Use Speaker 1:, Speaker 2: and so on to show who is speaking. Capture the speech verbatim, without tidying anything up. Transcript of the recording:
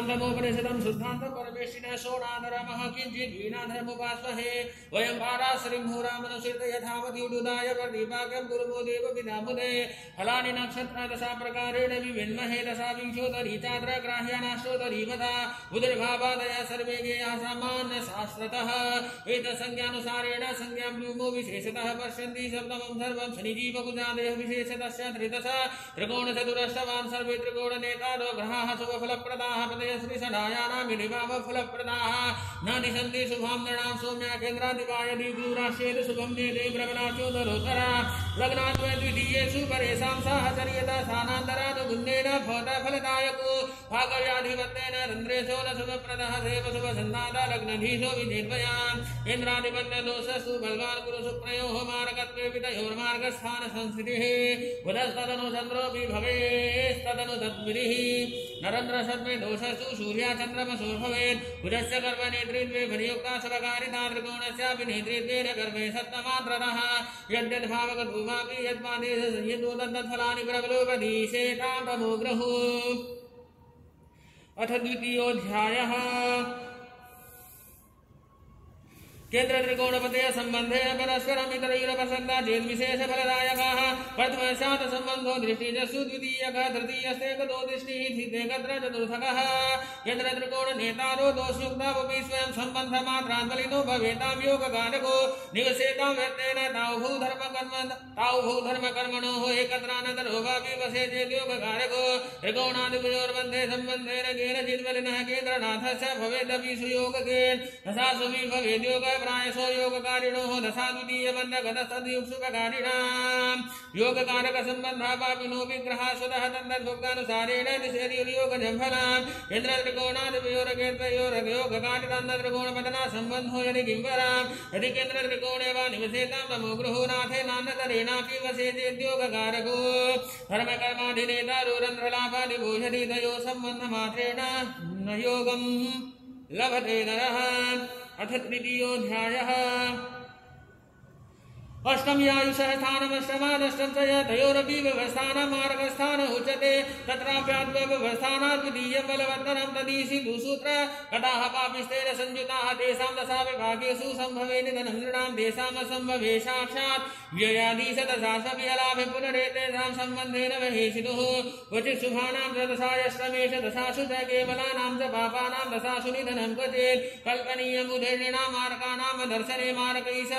Speaker 1: नमोपनिषदं शुद्धान्त परमेष्टिनः शोणाधरमः किञ्चित् वीणाधरमुपास्महे वयं पाराश्रीमुहूरामनुसृत्य यथावद्युडुदाय प्रदीपाकं गुरुमो देव पितामुदे फलानि नक्षत्र दशा प्रकारेण विविन्महे दशा विंशोतरी चात्र ग्राह्यानाश्रोतरी वदा उदर्भावादय सर्वे गेयाः सामान्य शास्त्रतः एतत्संज्ञानुसारेण संज्ञां व्योमो विशेषतः पश्यन्ति शब्दमं सर्वं शनिजीवकुजादयः विशेषतस्य त्रिदश त्रिकोणचतुरष्टवान् सर्वे त्रिकोणनेतारो ग्रहाः शुभफलप्रदाः पदय श्रीषडायानां विनिभावफलप्रदाः न निशन्ति शुभां नृणां सौम्या केन्द्राधिपाय दीर्घदूराश्चेत् शुभं नेते प्रबलाचोदरोत्तरा लग्नाद्वय द्वितीयेषु परेषां साहचर्यता स्थानान्तरानुगुण्येन भवतः फलदायको भागव्याधिपत्येन रन्ध्रेशो न शुभप्रदः देव शुभसन्नादा लग्नधीशो विधेद्वयान् केन्द्राधिपत्यदोषस्तु बलवान् गुरुशुक्रयोः मार्गत्वे पितयोर्मार्गस्थान संस्थितिः बुधस्तदनु चन्द्रोऽपि भवेस्तदनु तद्विधिः नरेन्द्रशर्मे दोषस्तु सूर्याचन्द्रमसो भवेत् बुधस्य गर्भनेत्रीत्वे भनियुक्ता शुभकारिता त्रिकोणस्यापि नेत्रीत्वेन गर्भे सप्तमात्रतः यद्यद्भावगतुमापि यद्मादेश संयतो तद्फलानि प्रबलोपदीशेतां तमोग्रहो अथ द्वितीयोऽध्यायः केन्द्र त्रिकोणपतय संबंधे परस्परम् इतरैरपसन्दा चेत् विशेष फलदायकाः प्रथमस्यात् संबन्धो दृष्टिजस्सु द्वितीयकः तृतीयस्तेकतो दृष्टिः तृतीयकत्र चतुर्थकः केन्द्र त्रिकोण नेतारो दोषयुक्तावपि स्वयं सम्बन्धमात्रान् बलिनो भवेतां योगकारको निवसेतां व्यक्तेन ताौ भूधर्मकर्म ताौ भूधर्मकर्मणोः एकत्रानतरो वापि वसे चेत् योगकारको त्रिकोणादिभयोर्मध्ये सम्बन्धेन केनचित् बलिनः केन्द्रनाथस्य भवेदपि सुयोगकेन दशासुभि भवेद्योग प्रायसो योगकारिणोः दशा द्वितीयबन्धगतस्तद्युक्सुपकारिणां योगकारकसम्बन्धापापिनो विग्रहा स्वतः तन्नद्भुक्तानुसारेण दिशेर्योगजं फलाम् केन्द्रत्रिकोणादिपयोरकेन्द्रयोरयोगकारितान्नत्रिकोणपदना सम्बन्धो यदि किंवराम् यदि केन्द्रत्रिकोणे वा निवसेतां तमो गृहो नाथेनान्नतरेणापि वसेद्योगकारको धर्मकर्माधिनेतारो रन्ध्रलाभादिभूषति तयोः सम्बन्धमात्रेण न योगं लभते नरः अथ तृतीयोऽध्यायः अष्टम्यायुषः स्थानमष्टमादष्टं च तयोरपि व्यवस्थानं मार्गस्थान उच्यते तत्राप्याद्व्यवस्थानात् द्वितीयं बलवत्तरं तदीशितु सूत्र कटाः पापिस्तेन संयुताः तेषां दशा विभागेषु सम्भवे निधनं नृणां तेषामसम्भवे साक्षात् व्ययाधीशदशास्वपि अलाभे पुनरेतेषां सम्बन्धेन वहेषितुः क्वचित् शुभानां च दशायष्टमेष दशासु च केवलानां च पापानां दशासु निधनं क्वचित् कल्पनीयमुदीर्णां मार्गाणां दर्शने मार्गैः